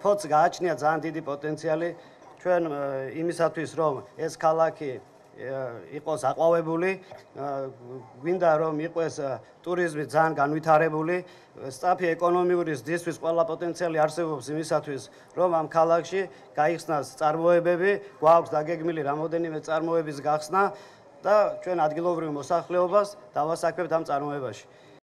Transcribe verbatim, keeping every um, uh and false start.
ხოც გააჩნია ძალიან დიდი პოტენციალი ჩვენ იმისათვის რომ ეს ქალაქი იყოს აყვავებული, გვინდა რომ იყოს ტურიზმი ძალიან განვითარებული, სწრაფი ეკონომიური ზრდისთვის ყველა პოტენციალი არსებობს იმისათვის, რომ ამ ქალაქში გაიხსნას წარმოებები, გვაქვს დაგეგმილი რამოდენიმე წარმოების გახსნა და ჩვენ ადგილობრივ მოსახლეობას დავასაქმებთ ამ წარმოებაში.